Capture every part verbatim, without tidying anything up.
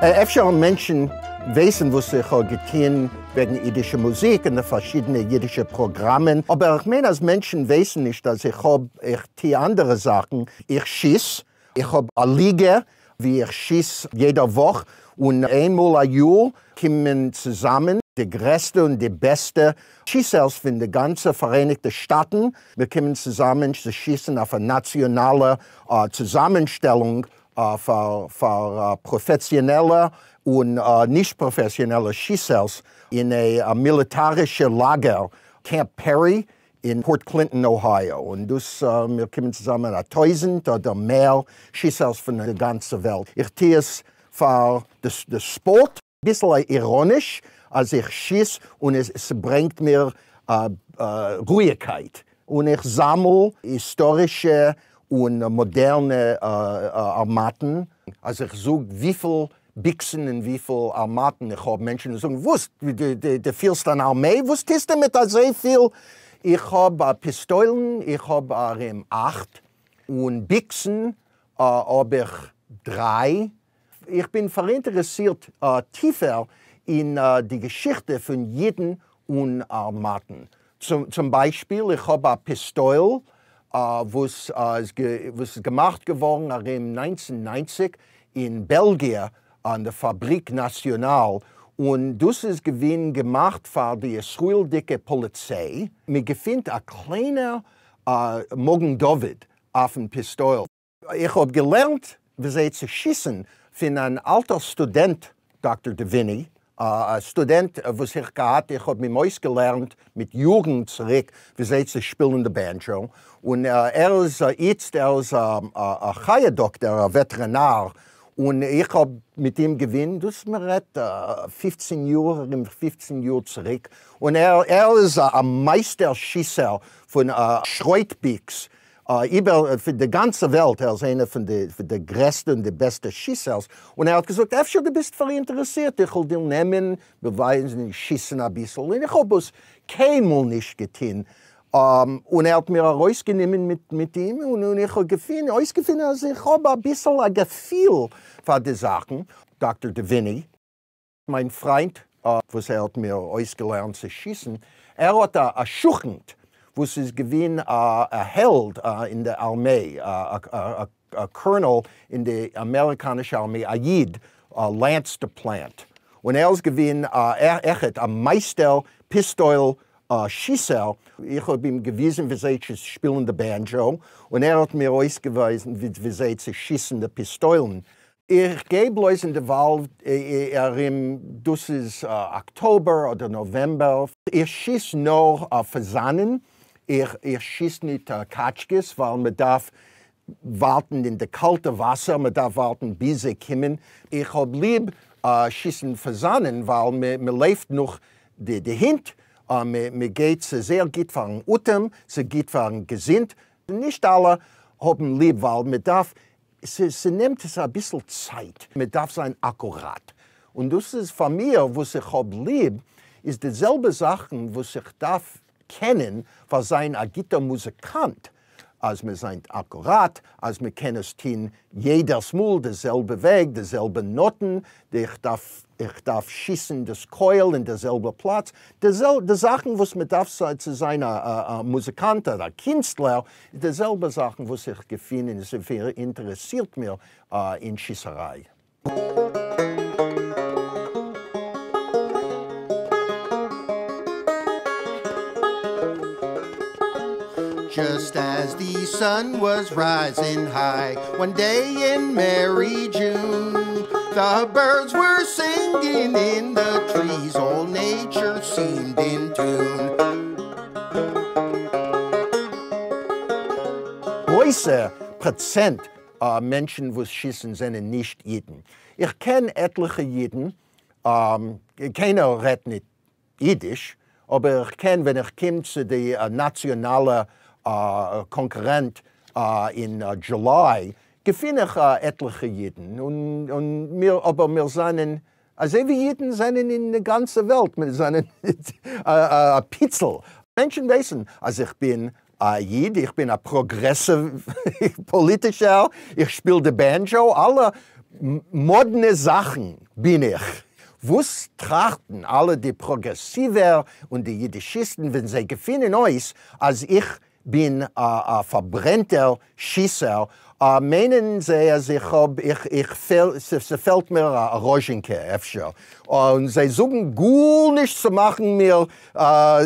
אפשר מענטשן ווייסן, וואס איך האב געטון וועגן אידישע מוזיק און די פארשידענע אידישע פראגראמען, אבער איך מיין, אז מענטשן ווייסן נישט, אז איך האב, איך טו אנדערע זאכן. איך שיס, איך האב א ליגע, וואו איך שיס יעדע וואך, און איינמאל א יאר קומען צוזאמען די גרעסטע און די בעסטע שיסערס פון די גאנצע פאראייניגטע שטאטן. מיר קומען צוזאמען צו שיסן אויף א נאציאנאלע אה, צוזאמענשטעלונג אה, פאר, פאר אה, פראפעסיאנעלע און אה, נישט פראפעסיאנעלע שיסערס אין א, א מיליטערישע לאגער, Camp Perry אין Port Clinton, Ohio. און דאס, אה, מיר קומען צוזאמען א טויזנט אדער מער שיסערס פון דער גאנצער וועלט. איך טו עס פאר די ספארט, ביסל איראניש, אז איך שיס און עס, עס ברענגט מיר אה, אה, רואיגקייט. און איך זאמל היסטארישע און מאדערנע אה, אה, ארמאטן. אז איך זאג וויפיל ביקסן און וויפיל ארמאטן איך האב, מענטשן זאגן, וואס, דו, דו, דו פירסט אן ארמיי? וואס טוסטו מיט אזוי פיל? איך האב אה, פיסטוילן, איך האב ארום אכט, און ביקסן אה, האב איך דריי. איך בין פאראינטערעסירט אה, טיפער אין אה, די געשיכטע פון אידן און ארמאטן. צום, צום ביישפיל, איך האב א פיסטויל, אה, וואס, אה, איז גע, וואס איז געמאכט געווארן ארום נײַנצן נײַנציק אין בעלגיע אן דער Fabrique Nationale, און דאס איז געווען געמאכט פאר די ישראלדיקע פאליציי. מען געפינט א קליינער אה, מגן דוד אויפן פיסטויל. איך האב געלערנט, ווי צו שיסן פון אן אלטער סטודענט, דאקטער Deviney, א סטודענט, וואס איך געהאט, איך האב אים אויסגעלערנט מיט יארן צוריק, ווי צו שפילן די banjo. און אה, ער איז אה, איצט, ער איז אה, א, א חיה-דאקטער, א וועטערינאר, און איך האב מיט אים געווען, דאס מען רעדט אה, פופצן יאר, ארום פופצן יאר צוריק, און ער, ער איז א, א מייסטער שיסער פון אה, שרויטביקס, אה, איבער פון די גאנצע וועלט, ער איז איינער פון די, פון די גרעסטע און די בעסטע שיסערס, און ער האט געזאגט, אפשר דו ביסט פאראינטערעסירט, איך וועל דיר נעמען, באווייזן, שיסן א ביסל, און איך האב עס קיינמאל נישט געטון. אום, און ער האט מיר ארויסגענומען מיט, מיט אים, און, און איך האב געפונען, אויסגעפונען, אז איך האב א ביסל א געפיל פאר די זאכן. דאקטער Deviney, מיין פריינד, אה, וואס ער האט מיר אויסגעלערנט צו שיסן, ער האט א, א שכנט, וואס איז געווען א, א העלד אה, אין דער ארמיי, א, א, א, א colonel אין די אמעריקאנישע ארמיי, א איד, אה, Lance DePlant. און ער איז געווען אה, ער, עכט א מייסטער פיסטויל אה, שיסער. איך האב אים געוויזן, ווי צו שפילן די banjo, און ער האט מיר אויסגעוויזן, ווי, ווי צו שיסן די פיסטוילן. איך גיי בלויז אין די וואלד ארום, דאס איז אה, אקטאבער אדער נאוועמבער. איך שיס נאר אה, פאזאנען, איך, איך שיס נישט אה, קאטשקעס, ווייל מען דארף ווארטן אין די קאלטע וואסער, מען דארף ווארטן ביז זיי קומען. איך האב ליב אה, שיסן פאזאנען, ווייל מען, מען לויפט נאך די, די הינט, אה, מען, מען גייט ס'איז זייער גוט פארן אטעם, ס'איז גוט פארן געזונט. נישט אלע האבן ליב, ווייל מען דארף, ס'נעמט עס א ביסל צייט, מען דארף זיין אקוראט. און דאס איז פאר מיר, וואס איך האב ליב, איז די זעלבע זאכן, וואס איך דארף קענען פאר זיין א גוטער מוזיקאנט, אז מען זיין אקוראט, אז מען קען עס טון יעדעס מאל די זעלבע וועג, די זעלבע נאטן, איך דארף, איך דארף שיסן דאס קויל אין דער זעלבע פלאץ. די, זעל, די זאכן, וואס מען דארף צו זיין א, א, א מוזיקאנט אדער א קינסטלער, די זעלבע זאכן, וואס איך געפין און עס אינטערעסירט מיר אה, אין שיסעריי. Just as the sun was rising high, one day in merry June, the birds were singing in the trees, all nature seemed in tune. גרויסע פראצענט אה, מענטשן, וואס שיסן, זענען נישט אידן. איך קען עטליכע אידן, אום, קיינער רעדט נישט אידיש, אבער איך קען, ווען איך קום צו די אה, נאציאנאלע אה, קאנפערענץ אה, אין אה, July, געפין איך אה, עטליכע אידן. און, און מיר, אבער מיר זענען, אזוי ווי אידן זענען אין דער גאנצער וועלט, מיר זענען א, א פיצל. מענטשן ווייסן, אז איך בין א איד, איך בין א פראגרעסיוו פאליטישער, איך שפיל די banjo, אלע מאדנע זאכן בין איך. וואס טראכטן אלע די פראגרעסיווער און די יידישיסטן, ווען זיי געפינען אויס, אז איך בין א פארברענטער שיסער, מיינען זיי, אז איך האב, איך, איך פעל, ס'פעלט מיר א ראזשינקע אפשר. און זיי זאגן גארנישט צו מאכן מיר,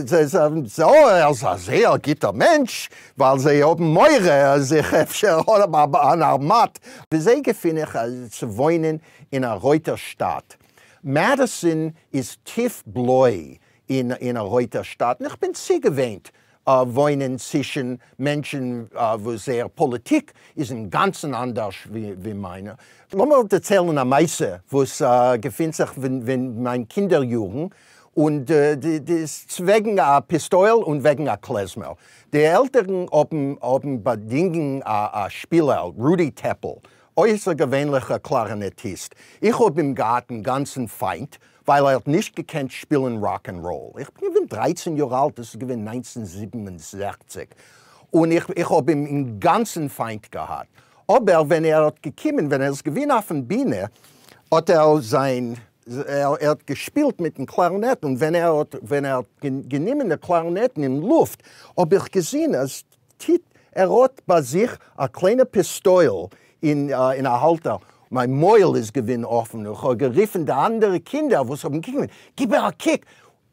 זיי זאגן, ער איז א זייער גוטער מענטש, ווייל זיי האבן מורא, אז איך אפשר האב אן הארמאט. ווי געפין איך צו וואוינען אין א רויטער שטאט? מעדיסאן איז טיף בלוי אין, אין א רויטער שטאט. און איך בין צוגעוואוינט אה, וואוינען צווישן מענטשן, אה, וואו זייער פאליטיק איז אין גאנצן אנדערש ווי, ווי מיינע. לאמיר דערציילן א מעשה, וואס אה, געפינט זיך ווען, ווען מיין קינדער־יארן און די, די, די, וועגן א פיסטויל און וועגן א קלעזמער. די עלטערן האבן, האבן באדינגען א, א שפילער, רודי טעפל, אויסערגעווענליכער קלארינעטיסט. איך האב אים געהאט א גאנצן פיינט, ווייל ער האט נישט געקענט שפילן rock and roll. איך בין געווען דרײַצן יאר אלט, דאס איז געווען נײַנצן זיבן און זעכציק. און איך, איך האב אים אין גאנצן פיינט געהאט. אבער ווען ער האט געקומען, ווען ער איז געווען אויף דער בינע, האט ער זיין, ער, ער האט געשפילט מיט דעם קלארינעט און ווען ער האט, ווען ער האט גענומען די קלארינעט אין לופט, האב איך געזען, אז טיט, ער האט ביי זיך א קליינע פיסטויל אין, אה, אין א האלטער. מיין מויל איז געווען אפן. איך האב גערופן די אנדערע קינדער, וואס האבן געקוקט, גיב מיר א קוק.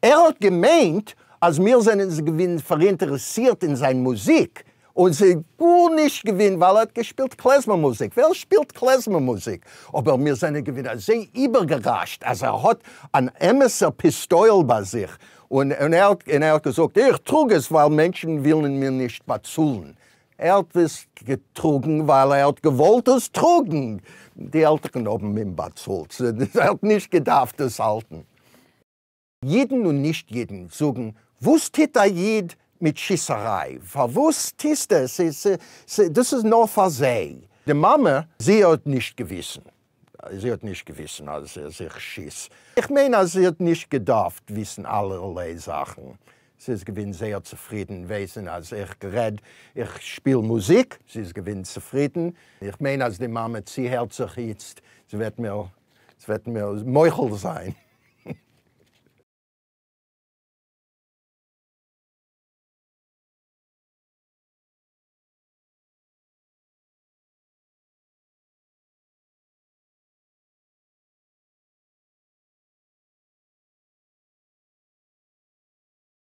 ער האט געמיינט, אז מיר זענען געווען פאראינטערעסירט אין זיין מוזיק. און ס'איז גארנישט געווען, ווייל ער האט געשפילט קלעזמער־מוזיק. ווער שפילט קלעזמער־מוזיק? אבער מיר זענען געווען אזוי איבערגעראשט, אז ער האט אן אמת'ער פיסטויל ביי זיך. און, און, ער, און ער האט געזאגט, איך טראג עס, ווייל מענטשן ווילן מיר נישט באצאלן. ער האט עס געטראגן, ווייל ער האט געוואלט עס טראגן. די עלטערן האבן אים באצאלט. ער האט נישט געדארפט עס האלטן. יידן און נישט יידן זאגן, וואס טוט א ייד מיט שיסעריי? פארוואס טוסטו עס? דאס איז נאר פאר זיי. די מאמע, זי האט נישט געוואוסט. זי האט נישט געוואוסט, אז איך שיס. איך מיין, אז זי האט נישט געדארפט וויסן אלערליי זאכן. זי איז געווען זייער צופרידן, וויסן, אז איך רעד, איך שפיל מוזיק. זי איז געווען צופרידן. איך מיין, אז די מאמע, זי הערט זיך איצט, זי וועט מיר, זי וועט מיר מוחל זיין.